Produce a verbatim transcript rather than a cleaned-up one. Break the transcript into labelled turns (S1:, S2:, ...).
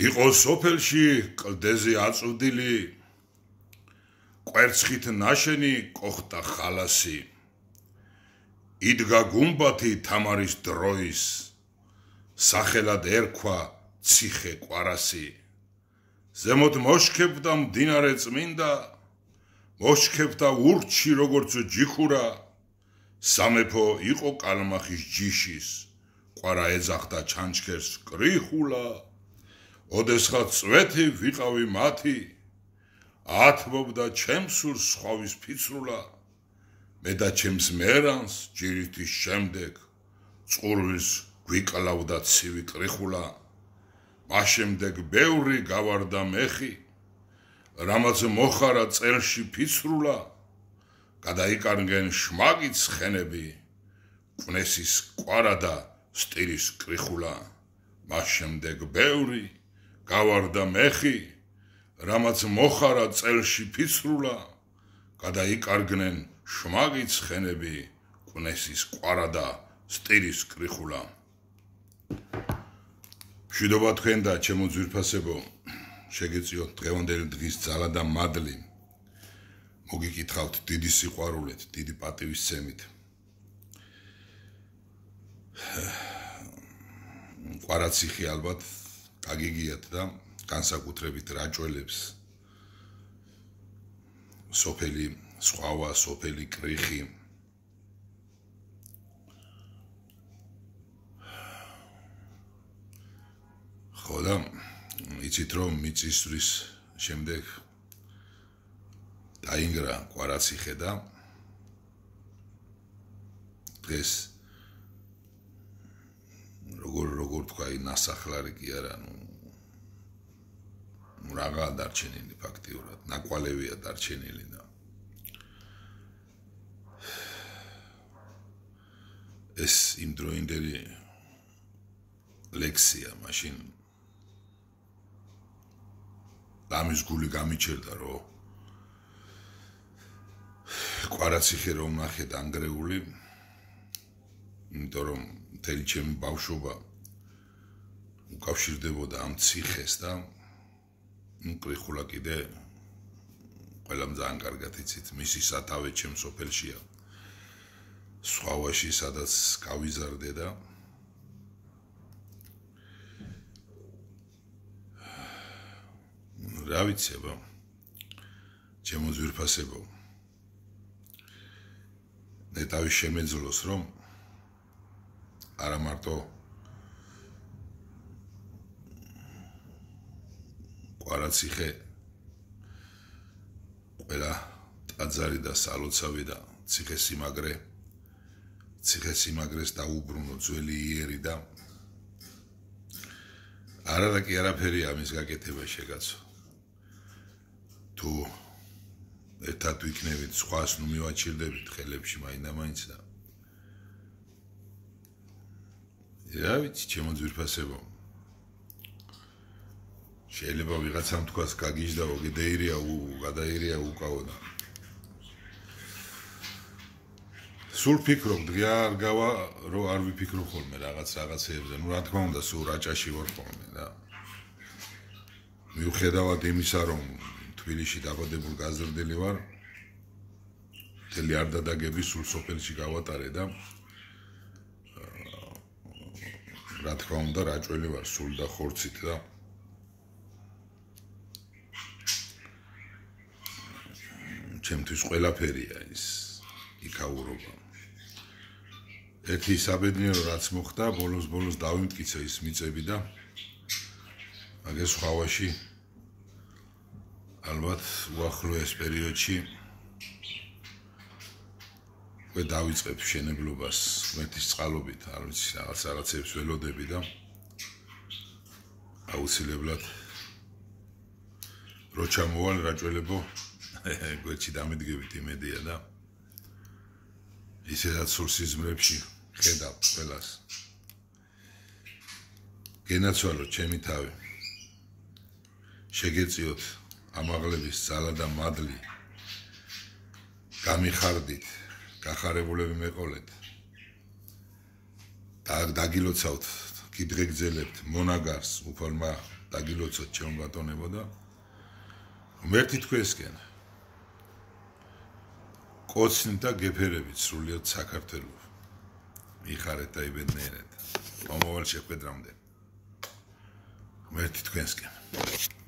S1: იყო სოფელში კლდეზე აწვდილი კვერცხით ნაშენი კოხტა ხალასი იდგა გუმბათი თამარის დროის სახელად ერქვა ციხე კვარასი ზემოთ მოშქებდა მდინარე წმინდა მოშქებდა ურჩი როგორც ჯიხურა სამეფო იყო კალმახის ჯიშის ყვარა ეძახდა ჩანჩქერს კრიხულა ოდესღაც წვეთი ვიყავი მათი ათმობდა ჩემს სულს სხვავის ფიცრულა მე და ჩემს მერანს ჯირითის შემდეგ წყურვის გვიკლავდა ცივი კრიხულა მას შემდეგ ბევრი გავარდა მეხი რამაც მოხარა წელში ფიცრულა გადაიკარგენ შმაგიც ხენები კვნესის კვარა და სტირის კრიხულა მას შემდეგ ბევრი გავარდა მეხი რამაც მოხარა წელში ფიცრულა გადაიკარგნენ შმაგიც ხენები კვნესის კვარა და სტირის კრიხულა მშვიდობა თქვენ და ჩემო ძვირფასებო შეგეწიოთ დღევანდელი დღის ძალა და მადლი მოგიკითხავთ დიდი სიყვარულით დიდი პატივისცემით ყვარაციხე ალბათ გაგიგიათ და განსაკუთრებით რაჭველებს სოფელი სხვავა სოფელი კრიხი ხოდა იცით რომ მიწისძვრის შემდეგ დაინგრა ყვარაციხე და დღეს როგორ როგორ თქვა ნასახლარი კი არა ნუ რაღაც დარჩენილი ფაქტიურად ნაკვალევია დარჩენილი და ეს იმდროინდელი ლექსია მაშინ ამის გული გამიჩერდა რომ ყვარაციხე რომ ნახე დანგრეული იმიტომ რომ მთელი ჩემი ბავშვობა უკავშირდებოდა ამ ციხეს და კრიხულა კიდე ყველამ ძალიან კარგად იცით მისი სათავე ჩემ სოფელშია სხვავაში სადაც გავიზარდე და რა ვიცებო ჩემო ძვირფასებო ნეტავი შემეძლოს რომ არა მარტო ყვარაციხე ყველა ტაძარი და სალოცავი და ციხესიმაგრე ციხესიმაგრეს დაუბრუნო ძველი იერი და არა და კი არაფერია ამის გაკეთება შეგაცო თუ ერთად ვიქნებით სხვას ნუ მივაჩილდებით ხელებში მაინდა-მაინც და რა ვიცი ჩემო ძვირფასებო შეიძლება ვიღაცამ თქვას გაგიჟდაო გედაირია გადაირია უკაო და სულ ფიქრობ დღე არ გავა რომ არ ვიფიქრო ხოლმე რაღაც რაღაცეებზე ნუ რა თქმა უნდა სულ რაჭაში ვარ ხოლმე და მიუხედავად იმისა რომ თბილისში დაბადებული გაზრდილი ვარ მთელი არ დადაგები სულ სოფელში გავატარე და რა თქმა უნდა რაჭველი ვარ სულ და ხორცით და ჩემთვის ყველაფერია ის იქაურობა ერთი საბედნიერო რაც მოხდა ბოლოს ბოლოს დავიმტკიცე ის მიწები და მაგას სხვავაში ალბათ უახლოეს პერიოდში უკვე დავიწყებ მშენებლობას ღმერთის წყალობით არ ვიცი რაღაც რაღაცებს ველოდები და აუცილებლად რო ჩამოვალ რაჭველებო გვერდში დამიდგებით იმედია და ისედაც სულ სიზმრებში ხედავ ყველას გენაცვალოთ ჩემი თავი შეგეწიოთ ამაღლების ძალა და მადლი გამიხარდით გახარებულები მეყოლეთ და დაგილოცავთ კიდღეგძელებთ მონაგარს უფალმა დაგილოცოთ ჩემო ბატონებო და ღმერთი თქვენსკენ კოცნით და გეფერებით სრულიად საქართველოს იხარეთ და იბედნიერეთ მომავალ შეხვედრამდე ღმერთი თქვენსკენ